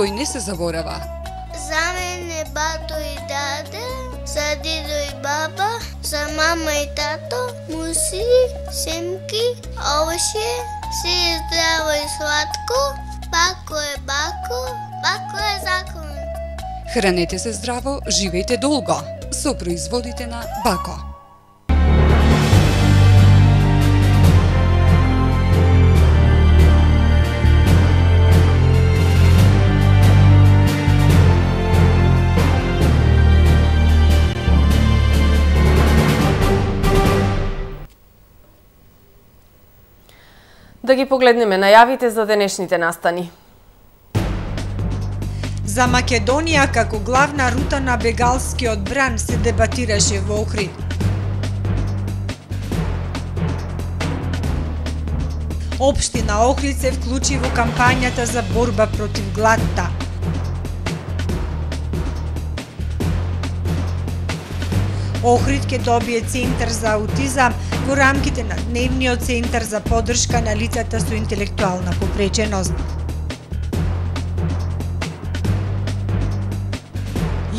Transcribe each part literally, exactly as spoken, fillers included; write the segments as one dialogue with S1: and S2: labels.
S1: кој не се заборава.
S2: За мене бато и даде, за дидо и баба, за мама и тато, муси, семки, овошје, си е здраво и сладко, бако е бако, бако е закон.
S1: Хранете се здраво, живејте долго со производите на Бако.
S3: Да ги погледнеме најавите за денешните настани.
S4: За Македонија како главна рута на бегалскиот бран се дебатираше во Охрид. Општина Охрид се вклучи во кампањата за борба против гладта. Охрид ќе добие центар за аутизам во рамките на дневниот центар за поддршка на лицата со интелектуална попреченост.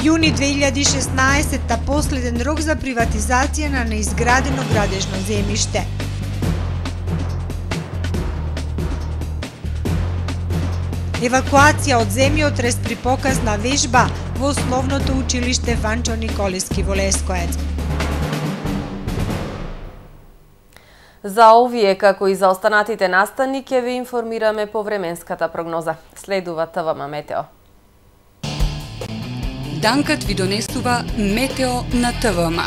S4: Јуни две илјади и шеснаесетта последен рок за приватизација на неизградено градежно земјиште. Евакуација од земјотрес при показна вежба во основното училиште Ванчо Николевски во Лескоец.
S3: За овие, како и за останатите настани, ќе ви информираме по временската прогноза. Следува ТВМ Метео.
S1: Данкат ви донесува Метео на ТВМ.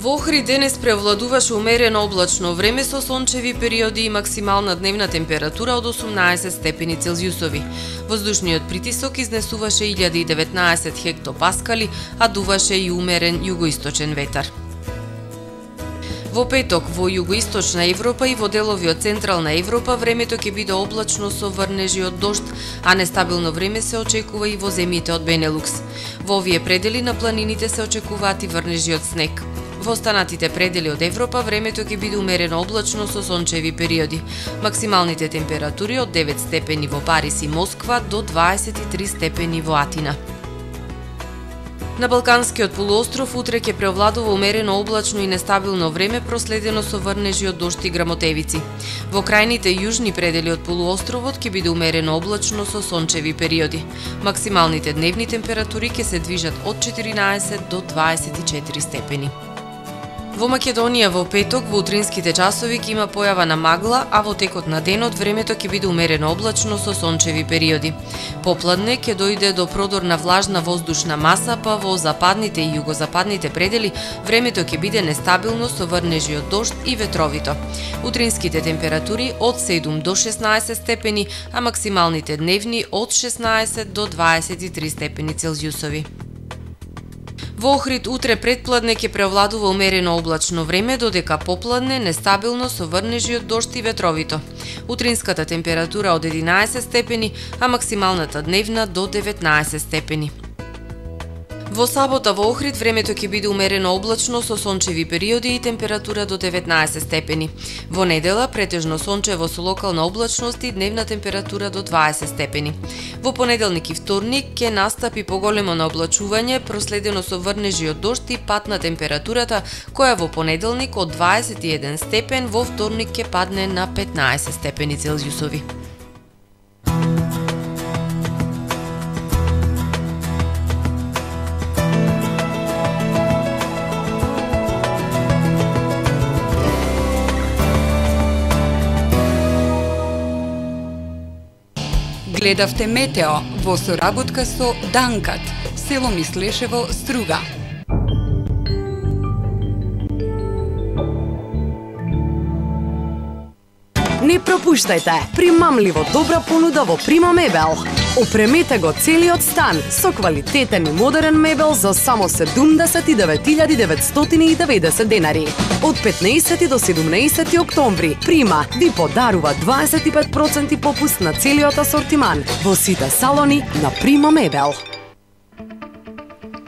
S3: Во Охрид денес превладуваше умерено облачно време со сончеви периоди и максимална дневна температура од осумнаесет степени Целзиусови. Воздушниот притисок изнесуваше илјада и деветнаесет хектопаскали, а дуваше и умерен југоисточен ветар. Во петок во југоисточна Европа и во делови од централна Европа времето ќе биде облачно со врнежи од дожд, а нестабилно време се очекува и во земјите од Бенелукс. Во овие предели на планините се очекуваат и врнежи од снег. Во останатите предели од Европа времето ќе биде умерено облачно со сончеви периоди. Максималните температури од девет степени во Париз и Москва до дваесет и три степени во Атина. На Балканскиот полуостров утре ќе преовладува умерено облачно и нестабилно време, проследено со врнежи од дожд и грамотевици. Во крајните јужни предели од полуостровот ќе биде умерено облачно со сончеви периоди. Максималните дневни температури ќе се движат од четиринаесет до дваесет и четири степени. Во Македонија во петок во утринските часови ќе има појава на магла, а во текот на денот времето ќе биде умерено облачно со сончеви периоди. Попладне ќе дојде до продор на влажна воздушна маса, па во западните и југозападните предели времето ќе биде нестабилно со врнежи од дожд и ветровито. Утринските температури од седум до шеснаесет степени, а максималните дневни од шеснаесет до дваесет и три степени Целзиусови. Во Охрид утре предпладне ќе преовладува умерено облачно време, додека попладне нестабилно со врнежи од дожд и ветровито. Утринската температура од единаесет степени, а максималната дневна до деветнаесет степени. Во сабота во Охрид времето ќе биде умерено облачно со сончеви периоди и температура до деветнаесет степени. Во недела претежно сончево со локална облачност и дневна температура до дваесет степени. Во понеделник и вторник ќе настапи поголемо наоблачување, проследено со врнежи од дожд и пад на температурата, која во понеделник од дваесет и еден степен, во вторник ќе падне на петнаесет степени Целзиусови.
S1: Гледавте Метео во соработка со Данкат, село Мислешево, Струга.
S5: Не пропуштајте примамливо добра понуда во Прима мебел. Опремете го целиот стан со квалитетен и модерен мебел за само седумдесет и девет илјади деветстотини и деветдесет денари. Од петнаесети до седумнаесети октомври Прима ви подарува дваесет и пет проценти попуст на целиот асортиман во сите салони на Прима мебел.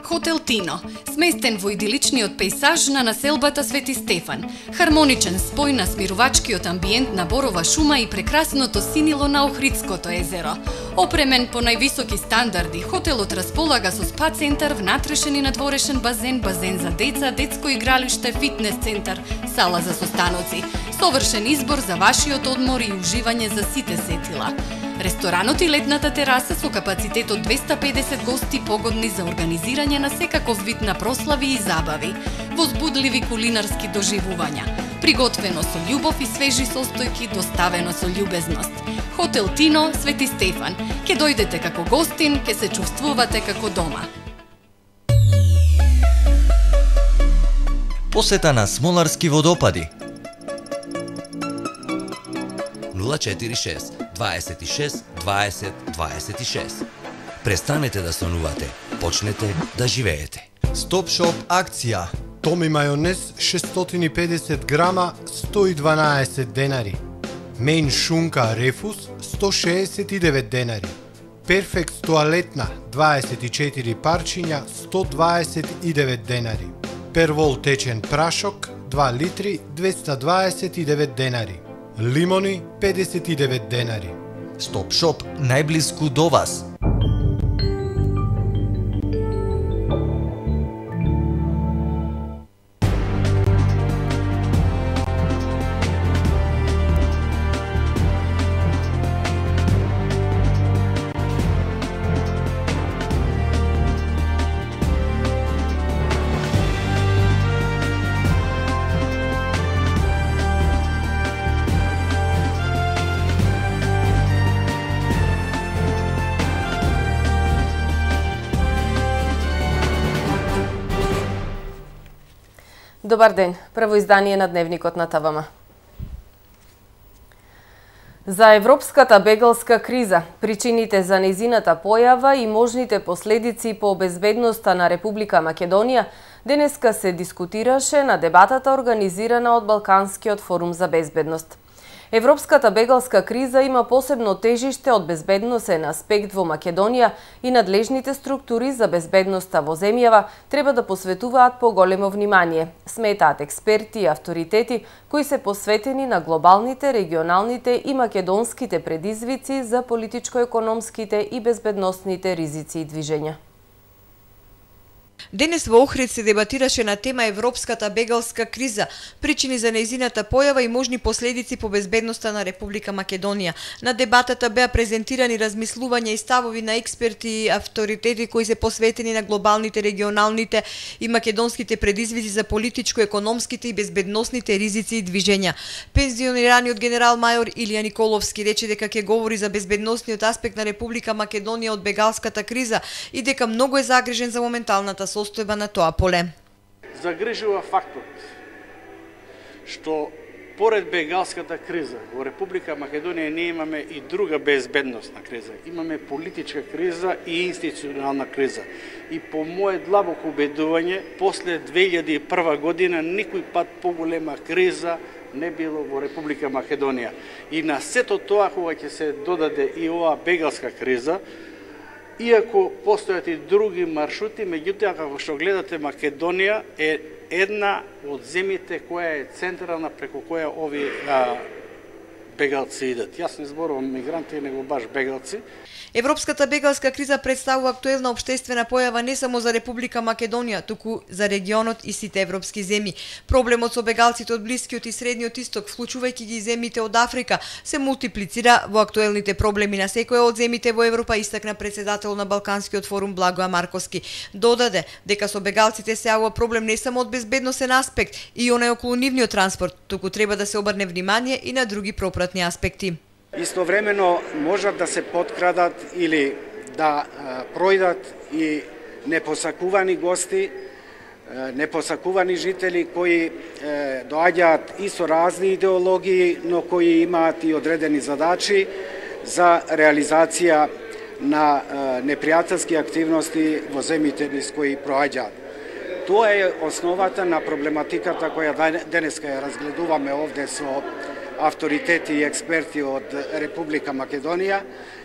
S6: Хотел Тино, сместен во идиличниот пејсаж на населбата Свети Стефан. Хармоничен спој на смирувачкиот амбиент на борова шума и прекрасното синило на Охридското езеро. Опремен по највисоки стандарди, хотелот располага со спа центар, внатрешен и надворешен базен, базен за деца, детско игралиште, фитнес центар, сала за состаноци. Совршен избор за вашиот одмор и уживање за сите сетила. Ресторанот и летната тераса со капацитет од двеста и педесет гости погодни за организирање на секаков вид на прослави и забави, возбудливи кулинарски доживувања, приготвено со љубов и свежи состојки, доставено со љубезност. Хотел Тино, Свети Стефан. Ке дојдете како гостин, ке се чувствувате како дома.
S7: Посета на Смоларски водопади. нула четири шест дваесет и шест дваесет дваесет и шест. Престанете да сонувате, почнете да живеете.
S8: Стоп шоп акција. Томи мајонез шестстотини и педесет грама сто и дванаесет денари. Мейн шунка рефус сто шеесет и девет денари. Перфект тоалетна дваесет и четири парчиња сто дваесет и девет денари. Первол течен прашок два литри двеста дваесет и девет денари. Лимони педесет и девет денари.
S7: Стоп шоп најблиску до вас.
S3: Добар ден, прво издание на Дневникот на ТВМ. За европската бегалска криза, причините за нејзината појава и можните последици по безбедноста на Република Македонија денеска се дискутираше на дебатата организирана од Балканскиот форум за безбедност. Европската бегалска криза има посебно тежиште од безбедносен аспект во Македонија и надлежните структури за безбедноста во земјава треба да посветуваат поголемо внимание, сметаат експерти и авторитети кои се посветени на глобалните, регионалните и македонските предизвици за политичко-економските и безбедносните ризици и движења.
S9: Денес во Охрид се дебатираше на тема Европската бегалска криза, причини за нејзината појава и можни последици по безбедноста на Република Македонија. На дебатата беа презентирани размислувања и ставови на експерти и авторитети кои се посветени на глобалните, регионалните и македонските предизвици за политичко-економските и безбедносните ризици и движења. Пензионираниот генерал мајор Илија Николовски рече дека ќе говори за безбедносниот аспект на Република Македонија од бегалската криза и дека многу е загрижен за моменталната состојба на тоа поле.
S10: Загрижува фактот што поред бегалската криза во Република Македонија не имаме и друга безбедносна криза. Имаме политичка криза и институционална криза. И по мое длабоко убедување, после две илјади и прва година никој пат поголема криза не било во Република Македонија. И на сето тоа кога ќе се додаде и оваа бегалска криза, иако постојат и други маршрути, меѓутоа како што гледате Македонија е една од земјите која е централна преку која овие а, бегалци идат. Јас не зборувам мигранти, него баш бегалци.
S9: Европската бегалска криза представува актуелна општествена појава не само за Република Македонија, туку за регионот и сите европски земји. Проблемот со бегалците од Блискиот и Средниот Исток, вклучувајќи ги земјите од Африка, се мултиплицира во актуелните проблеми на секоја од земјите во Европа, истакна председател на Балканскиот форум Благоја Марковски. Додаде дека со бегалците се јавува проблем не само од безбедносен аспект и онај околу нивниот транспорт, туку треба да се обрне внимание и на други пропратни аспекти.
S11: Истовремено можат да се поткрадат или да а, пројдат и непосакувани гости непосакувани жители кои доаѓаат и со разни идеологии, но кои имаат и одредени задачи за реализација на непријателски активности во земјите низ кои проаѓаат. Тоа е основата на проблематиката која денеска ја разгледуваме овде со авторитети и експерти од Република Македонија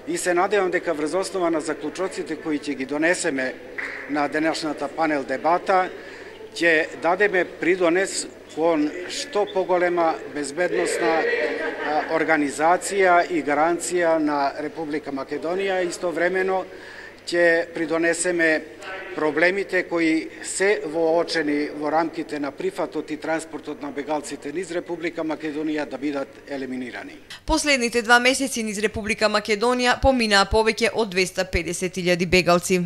S11: и се надевам дека врз основа на заклучоците кои ќе ги донесеме на денешната панел дебата ќе дадеме придонес кон што поголема безбедносна организација и гаранција на Република Македонија. Истовремено ќе придонесеме проблемите кои се воочени во рамките на прифатот и транспортот на бегалците низ Република Македонија да бидат елиминирани.
S9: Последните два месеци низ Република Македонија поминаа повеќе од двесте и педесет илјади бегалци.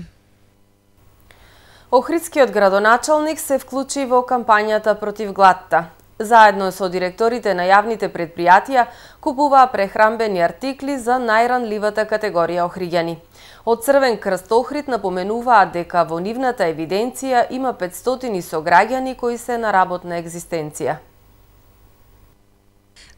S3: Охридскиот градоначалник се вклучи во кампањата против гладта. Заедно со директорите на јавните предпријатија купуваа прехранбени артикли за најранливата категорија охриѓани. Од Црвен крст Охрид напоменуваат дека во нивната евиденција има петстотини сограѓани кои се на работна екзистенција.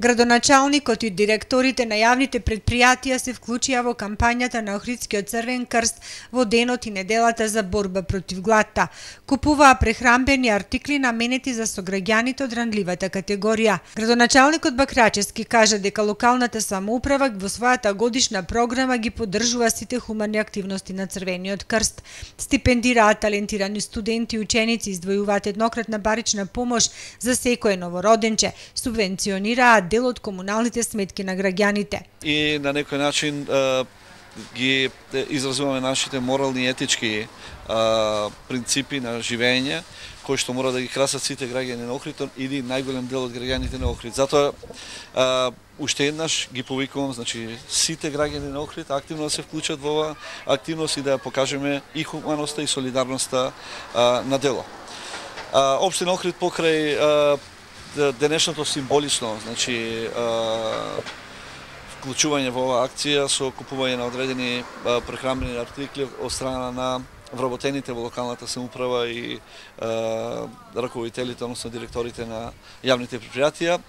S4: Градоначалникот и директорите на јавните предпријатија се вклучија во кампањата на Охридскиот Црвен крст во денот и неделата за борба против гладта. Купуваа прехранбени артикли наменети за сограѓаните од ранливата категорија. Градоначалникот Бакрачевски кажа дека локалната самоуправа во својата годишна програма ги поддржува сите хумани активности на Црвениот крст. Стипендираат талентирани студенти и ученици, издвојуваат еднократна барична помош за секое новороденче, субвенционираат дел од комуналните сметки на граѓаните.
S12: И на некој начин а, ги изразуваме нашите морални и етички а, принципи на живење, кои што мора да ги красат сите граѓани на Охрид или најголем дел од граѓаните на Охрид. Затоа а, уште еднаш ги повикувам, значи сите граѓани на Охрид активно да се вклучат во ова активност и да ја покажеме и хуманоста и солидарноста а, на дело. А, Општина Охрид покрај а, денешното символично, значи вклучување во оваа акција со купување на одредени прехранбени артикли од страна на вработените во локалната самоуправа и раководителите, односно директорите на јавните предпријатија,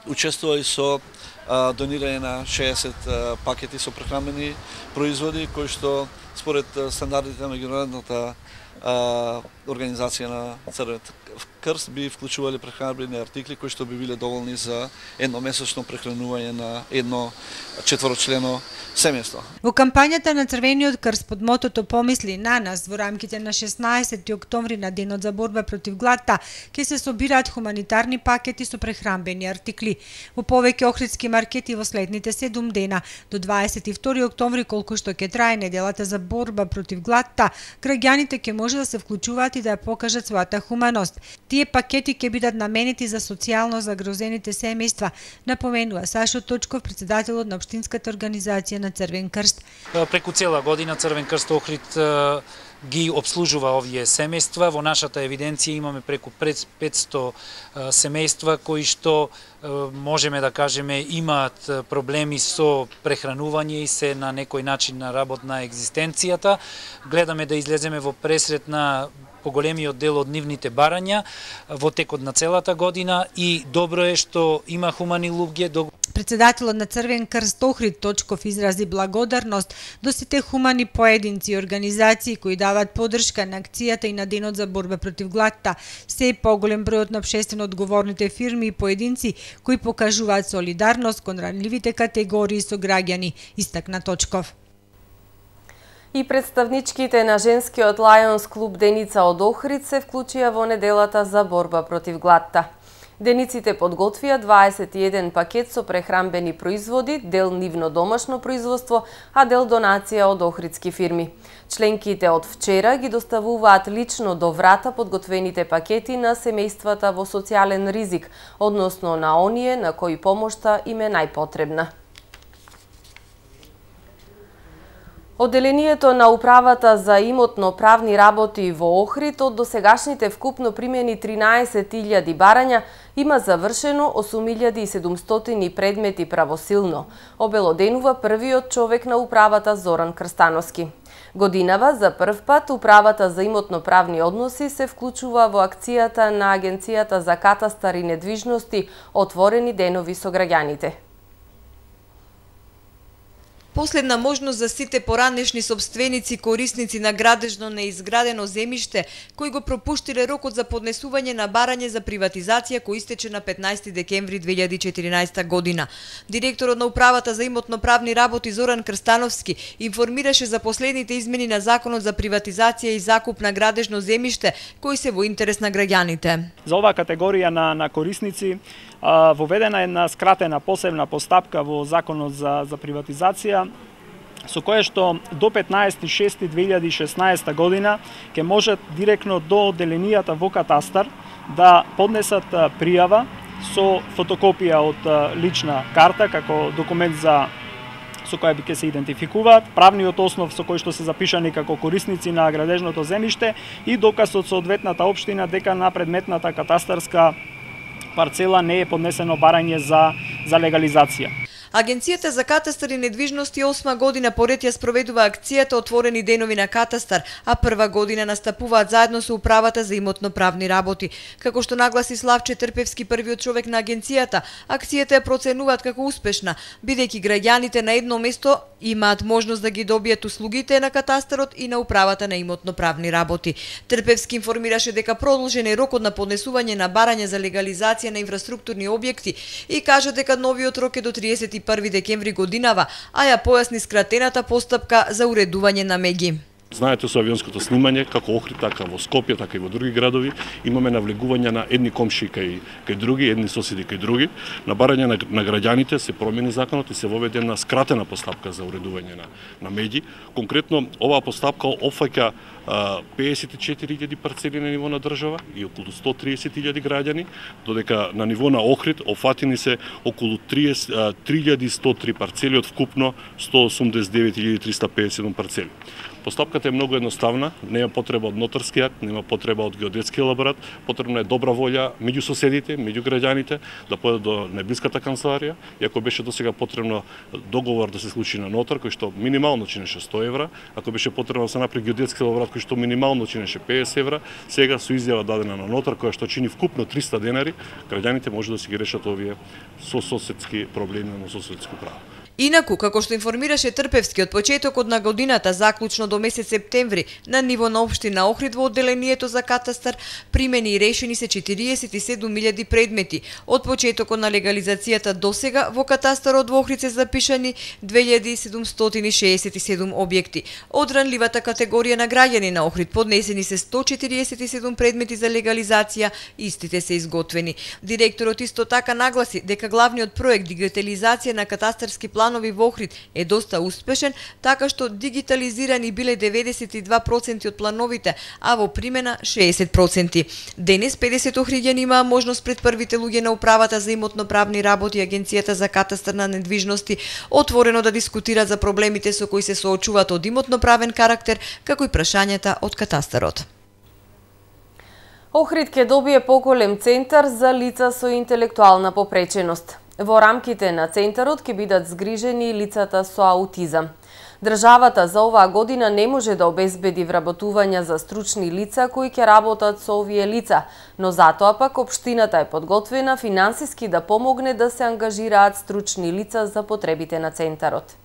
S12: учествува и со донирање на шеесет пакети со прехранбени производи кои што според стандардите на меѓународната организација на Црвениот крст би вклучувале прехранбени артикли кои што би биле доволни за едномесечно прехранување на едно четворочлено семејство.
S4: Во кампањата на Црвениот крст под мотото "Помисли на нас" во рамките на шеснаесети октомври на денот за борба против гладта ќе се собираат хуманитарни пакети со прехранбени артикли во повеќе охридски маркети во следните седум дена до дваесет и втори октомври, колку што ќе трае неделата за борба против гладта. Граѓаните ќе може да се вклучуваат и да ја покажат својата хуманост. Тие пакети ќе бидат наменети за социјално загрозените семејства, напоменува Сашо Точков, председателот на општинската организација на Црвен крст.
S13: Преку цела година Црвен крст Охрид ги обслужува овие семејства. Во нашата евиденција имаме преку петсто семејства кои што можеме да кажеме имаат проблеми со прехранување и се на некој начин на работна екзистенцијата. Гледаме да излеземе во пресрет на поголемиот дел од нивните барања во текот на целата година и добро е што има хумани луѓе.
S4: Председателот на Црвен крст Охрид Точков изрази благодарност до сите хумани поединци и организации кои даваат поддршка на акцијата и на денот за борба против гладта. Се поголем бројот на општествено одговорните фирми и поединци кои покажуваат солидарност кон ранливите категории со граѓани, истакна Точков.
S3: И представничките на женскиот Лајонс клуб Деница од Охрид се вклучија во неделата за борба против гладта. Дениците подготвија дваесет и еден пакет со прехранбени производи, дел нивно домашно производство, а дел донација од охридски фирми. Членките од вчера ги доставуваат лично до врата подготвените пакети на семејствата во социјален ризик, односно на оние на кои помошта им е најпотребна. Одделението на Управата за имотно-правни работи во Охрид од досегашните вкупно примени тринаесет илјади барања има завршено осум илјади и седумстотини предмети правосилно, обелоденува првиот човек на Управата Зоран Крстановски. Годинава за прв пат Управата за имотно-правни односи се вклучува во акцијата на Агенцијата за катастар и недвижности Отворени денови со граѓаните.
S9: Последна можност за сите поранешни собственици корисници на градежно неизградено земјиште кои го пропуштиле рокот за поднесување на барање за приватизација кој истече на петнаесети декември две илјади и четиринаесета година. Директорот на Управата за имотно-правни работи Зоран Крстановски информираше за последните измени на Законот за приватизација и закуп на градежно земјиште кои се во интерес на граѓаните.
S14: За оваа категорија на, на корисници воведена е една скратена посебна постапка во Законот за, за приватизација, со кое што до петнаесети шести две илјади и шеснаесета година ќе можат директно до одделенијата во катастар да поднесат пријава со фотокопија од лична карта како документ за со која би ќе се идентификуваат, правниот основ со кој што се запишани како корисници на градежното земјиште и доказ од соодветната општина дека на предметната катастарска парцела не е поднесено барање за, за легализација.
S9: Агенцијата за катастар и недвижности осма година поред ја спроведува акцијата Отворени денови на катастар, а прва година настапуваат заедно со Управата за имотно-правни работи. Како што нагласи Славче Трпевски, првиот човек на агенцијата, акцијата ја проценуваат како успешна, бидејќи граѓаните на едно место имаат можност да ги добијат услугите на катастарот и на Управата на имотно-правни работи. Трпевски информираше дека продолжен е рокот на поднесување на барање за легализација на инфраструктурни објекти и кажа дека новиот рок е до триесет и први декември годинава, а ја појасни скратената постапка за уредување на меѓи.
S15: Знаете, со авионското снимање, како Охрид, така во Скопје, така и во други градови, имаме навлегување на едни комши кај, кај други, едни соседи кај други. На барање на, на граѓаните се промени законот и се воведе една скратена постапка за уредување на, на меѓи. Конкретно, оваа постапка опфаќа пеесет и четири илјади парцели на ниво на држава и околу сто и триесет илјади граѓани, додека на ниво на Охрид офатени се околу три илјади и сто и три парцели од вкупно сто осумдесет и девет илјади триста педесет и седум парцели. Постапката е многу едноставна, нема потреба од нотарски акт, нема потреба од геодетски елаборат, потребна е добра волја меѓу соседите, меѓу граѓаните, да појдат до најблиската канцеларија, иако беше досега потребно договор да се случи на нотар, кој што минимално чинеше сто евра, ако беше потребно да се направи геодетски елаборат кој што минимално чинеше педесет евра, сега со изјава дадена на нотар која што чини вкупно триста денари, граѓаните може да си ги решат овие сососедски проблеми на сососедско право.
S9: Инаку, како што информираше Трпевски, од почетокот на годината, заклучно до месец септември, на ниво на општина Охрид во одделението за катастар, примени и решени се четириесет и седум илјади предмети. Од почетокот на легализацијата досега во катастарот во Охрид се запишани две илјади седумстотини шеесет и седум објекти. Од ранливата категорија на граѓани на Охрид поднесени се сто четириесет и седум предмети за легализација, истите се изготвени. Директорот исто така нагласи дека главниот проект дигитализација на катастарски план во Охрид е доста успешен, така што дигитализирани биле деветдесет и два проценти од плановите, а во примена шеесет проценти. Денес педесет охриѓани имаа можност пред првите луѓе на Управата за имотно-правни работи и Агенцијата за катастар на недвижности отворено да дискутираат за проблемите со кои се соочуваат од имотно-правен карактер, како и прашањата од катастарот.
S3: Охрид ќе добие поголем центар за лица со интелектуална попреченост. Во рамките на центарот ќе бидат згрижени лицата со аутизам. Државата за оваа година не може да обезбеди вработувања за стручни лица кои ќе работат со овие лица, но затоа пак општината е подготвена финансиски да помогне да се ангажираат стручни лица за потребите на центарот.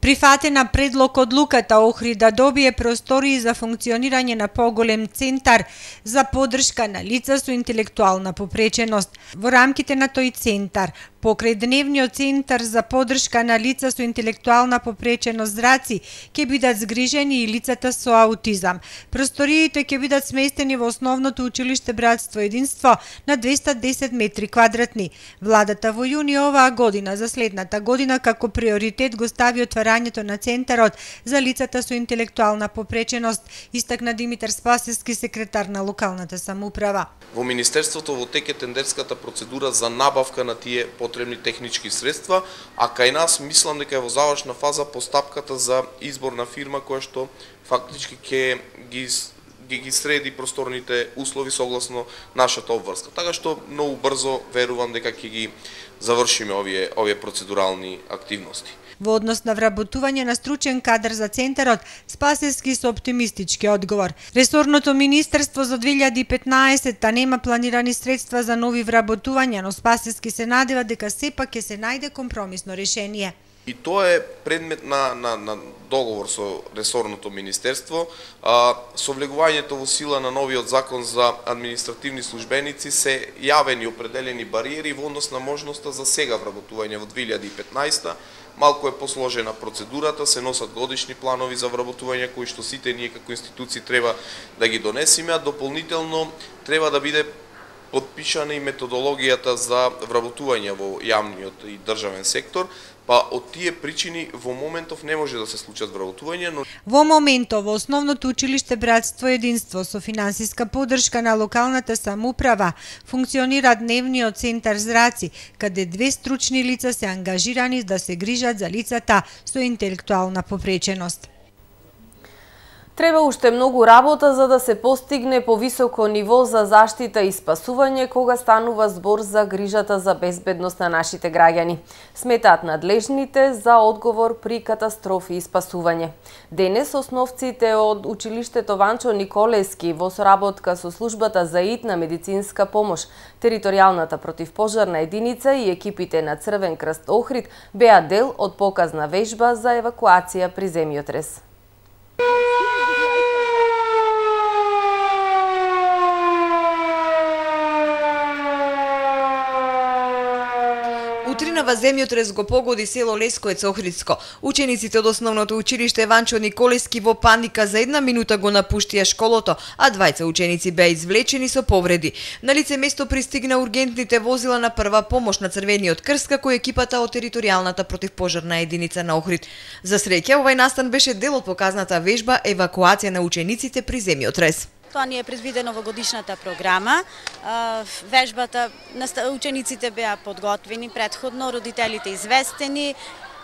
S4: Прифатена предлог одлуката Охрид да добие простории за функционирање на поголем центар за подршка на лица со интелектуална попреченост. Во рамките на тој центар, покрај дневниот центар за подршка на лица со интелектуална попреченост зраци, ќе бидат згрижени и лицата со аутизам. Просториите ќе бидат сместени во основното училиште Братство Единство на двеста и десет метри квадратни. Владата во јуни оваа година за следната година како приоритет го стави отварањето на центарот за лицата со интелектуална попреченост, истакна Димитар Спасевски, секретар на локалната самоуправа.
S16: Во Министерството во тек е тендерската процедура за набавка на тие потребни технички средства, а кај нас мислам дека е во завршна фаза постапката за избор на фирма која што фактички ќе ги ги ги среди просторните услови согласно нашата обврска. Така што многу брзо верувам дека ќе ги завршиме овие овие процедурални активности.
S4: Во однос на вработување на стручен кадар за центарот, Спасевски со оптимистички одговор. Ресорното министерство за две илјади и петнаесетта нема планирани средства за нови вработувања, но Спасевски се надева дека сепак ќе се најде компромисно решение.
S16: И тоа е предмет на, на, на договор со ресорното министерство. А, со влегувањето во сила на новиот закон за административни службеници се јавени определени бариери во однос на можноста за сега вработување во две илјади и петнаесетта. Малку е посложена процедурата, се носат годишни планови за вработување кои што сите ние како институции треба да ги донесеме, а дополнително треба да биде подпишана и методологијата за вработување во јавниот и државен сектор. Па од тие причини во моментов не може да се случат вработување, но
S4: во моментов во основното училиште Братство и единство со финансиска поддршка на локалната самоуправа функционира дневниот центар Зраци, каде две стручни лица се ангажирани да се грижат за лицата со интелектуална попреченост.
S3: Треба уште многу работа за да се постигне повисоко ниво за заштита и спасување кога станува збор за грижата за безбедност на нашите граѓани. Сметаат надлежните за одговор при катастрофи и спасување. Денес основците од училиштето Ванчо Николески во соработка со службата за итна медицинска помош, територијалната противпожарна единица и екипите на Црвен крст Охрид беа дел од показна вежба за евакуација при земјотрес.
S9: Утринава земјотрес го погоди село Лескоец Охридско. Учениците од основното училиште Ванчо Николески во паника за една минута го напуштија школото, а двајца ученици беа извлечени со повреди. На лице место пристигна ургентните возила на прва помош на Црвениот крст како екипата од територијалната противпожарна единица на Охрид. За среќа, овај настан беше дел од показната вежба евакуација на учениците при земјотрес.
S17: Тоа ни е предвидено во годишната програма. Вежбата, учениците беа подготвени предходно, родителите известени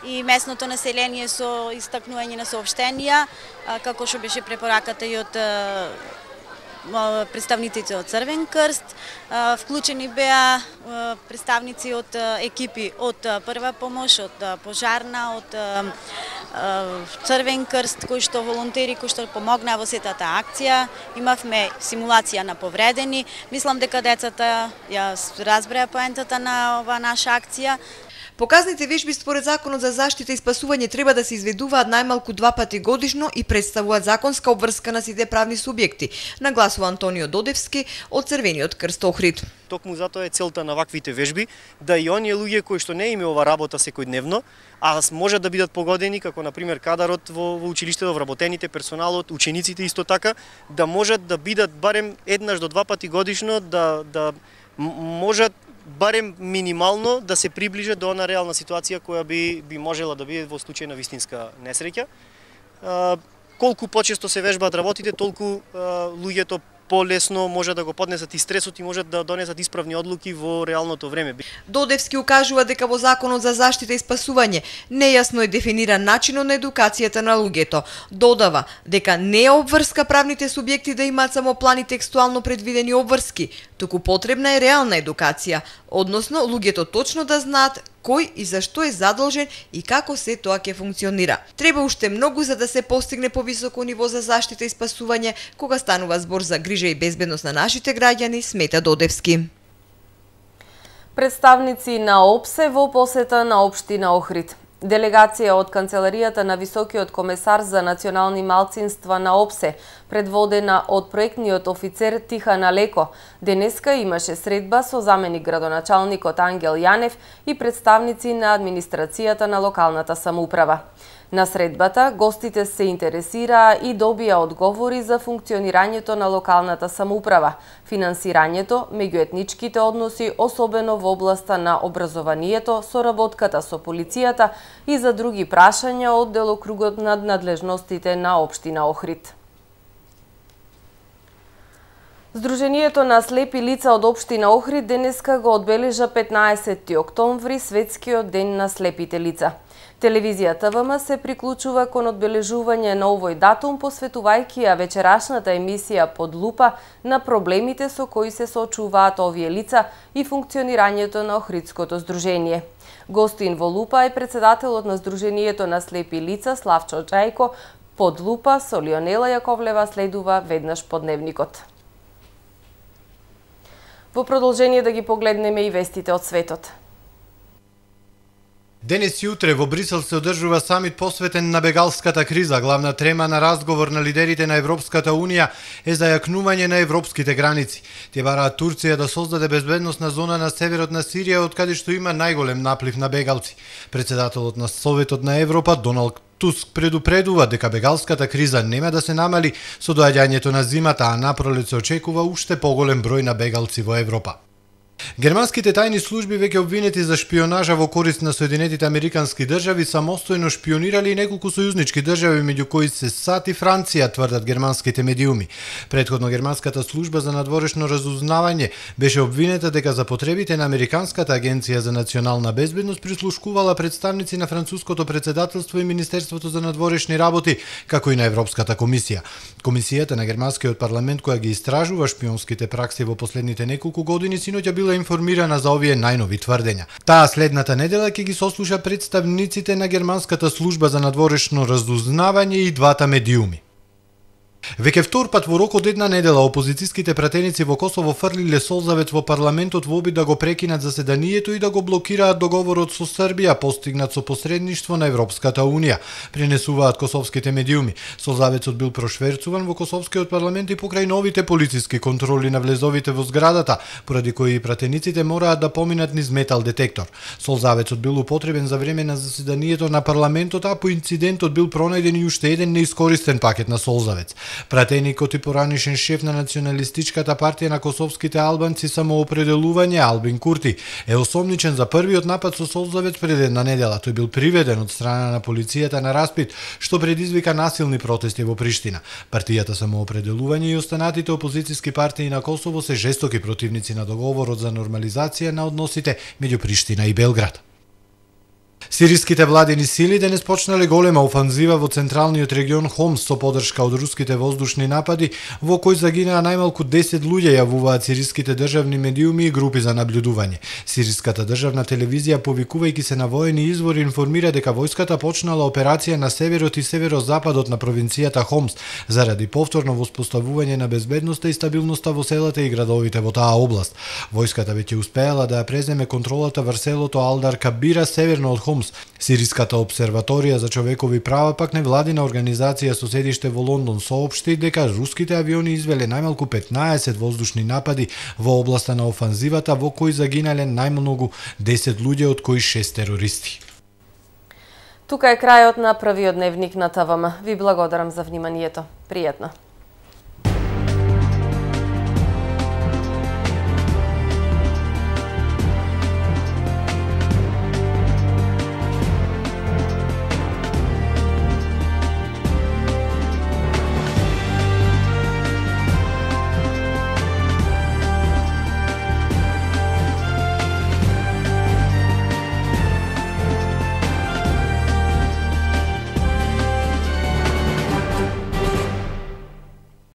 S17: и местното население со истакнување на соопштенија, како што беше препораката и од представниците од Црвен крст. Вклучени беа представници од екипи од прва помош, од пожарна, од Црвен крст, кои што волонтери кои што помогнаа во сетата акција. Имавме симулација на повредени. Мислам дека децата ја разбреа поентата на оваа наша акција.
S9: Показните вежби според Законот за заштита и спасување треба да се изведуваат најмалку два пати годишно и представуваат законска обврска на сите правни субјекти, нагласува Антонио Додевски од Црвениот крст Охрид.
S18: Токму затоа е целта на ваквите вежби, да и оние луѓе кои што не име ова работа секојдневно, а можат да бидат погодени, како на пример кадарот во, во училиштето, вработените, персоналот, учениците исто така, да можат да бидат барем еднаш до два пати годишно, да, да можат барем минимално да се приближат до она реална ситуација која би би можела да биде во случај на вистинска несреќа. Колку почесто се вежбаат работите, толку луѓето полесно може да го поднесат и стресот и можат да донесат исправни одлуки во реалното време.
S9: Додевски укажува дека во Законот за заштита и спасување нејасно е дефиниран начинот на едукацијата на луѓето. Додава дека не е обврска правните субјекти да имаат само плани текстуално предвидени обврски, туку потребна е реална едукација, односно луѓето точно да знаат кој и зашто е задолжен и како се тоа ќе функционира. Треба уште многу за да се постигне повисоко ниво за заштита и спасување кога станува збор за грижа и безбедност на нашите граѓани, смета Додевски.
S3: Представници на ОПСЕ во посета на општина Охрид. Делегација од Канцеларијата на Високиот комесар за национални малцинства на ОПСЕ, предводена од проектниот офицер Тихана Леко, денеска имаше средба со заменик градоначалникот Ангел Јанев и представници на администрацијата на локалната самоуправа. На средбата гостите се интересираа и добија одговори за функционирањето на локалната самоуправа, финансирањето, меѓуетничките односи, особено во областа на образованието, соработката со полицијата и за други прашања од делокругот над надлежностите на општина Охрид. Здруженијето на слепи лица од општина Охрид денеска го одбележа петнаесети октомври, светскиот ден на слепите лица. Телевизија Т В М се приклучува кон одбележување на овој датум, посветувајќи ја вечерашната емисија Под лупа на проблемите со кои се соочуваат овие лица и функционирањето на Охридското здружение. Гостин во Лупа е председателот на Здруженијето на слепи лица Славчо Џајко. Под лупа со Лионела Јаковлева следува веднаш по дневникот. Во продолжение да ги погледнеме и вестите од светот.
S8: Денес и утре во Брисел се одржува самит посветен на бегалската криза. Главна трема на разговор на лидерите на Европската Унија е зајакнување на европските граници. Тие бараат Турција да создаде безбедносна зона на северот на Сирија, од каде што има најголем наплив на бегалци. Председателот на Советот на Европа Доналд Туск предупредува дека бегалската криза нема да се намали со доаѓањето на зимата, а напролет се очекува уште поголем број на бегалци во Европа. Германските тајни служби веќе обвинети за шпионажа во корист на Соединетите Американски држави самостојно шпионирали и неколку сојузнички држави, меѓу кои се САД и Франција, тврдат германските медиуми. Предходно германската служба за надворешно разузнавање беше обвинета дека за потребите на Американската агенција за национална безбедност прислушкувала представници на француското председателство и Министерството за надворешни работи, како и на Европската комисија. Комисијата на германскиот парламент, која ги истражува шпионските пракси во последните неколку години, синоќа била информирана за овие најнови тврдења. Таа следната недела ќе ги сослуша представниците на германската служба за надворешно разузнавање и двата медиуми. Веќе втор пат во рок од една недела опозицијските пратеници во Косово фрлиле солзавет во парламентот во обид да го прекинат заседанието и да го блокираат договорот со Србија постигнат со посредништво на Европската Унија, пренесуваат косовските медиуми. Солзаветот бил прошверцуван во Косовскиот парламент и покрај новите полициски контроли на влезовите во зградата, поради кои пратениците мораат да поминат низ метал детектор. Солзаветот бил употребен за време на заседанието на парламентот, а по инцидентот бил пронајден и уште еден неискористен пакет на солзавец. Пратеникот и поранишен шеф на националистичката партија на косовските албанци самоопределување Албин Курти е осомничен за првиот напад со солзавец пред една недела. Тој бил приведен од страна на полицијата на распит, што предизвика насилни протести во Приштина. Партијата самоопределување и останатите опозицијски партии на Косово се жестоки противници на договорот за нормализација на односите меѓу Приштина и Белград. Сириските владени сили денес почнале голема офанзива во централниот регион Хомс со подршка од руските воздушни напади, во кои загинаа најмалку десет луѓе, јавуваат сириските државни медиуми и групи за наблюдување. Сириската државна телевизија, повикувајќи се на воени извори, информира дека војската почнала операција на северот и северозападот на провинцијата Хомс заради повторно воспоставување на безбедноста и стабилноста во селата и градовите во таа област. Војската веќе успеала да ја преземе контролата врз селото Алдар Кабира северно од Хомс. Сириската обсерваторија за човекови права, пак невладина организација со седиште во Лондон, соопшти дека руските авиони извеле најмалку петнаесет воздушни напади во областа на офанзивата, во кои загинале најмногу десет луѓе, од кои шест терористи.
S3: Тука е крајот на првиот дневник на Т В М. Ви благодарам за вниманието. Пријатно.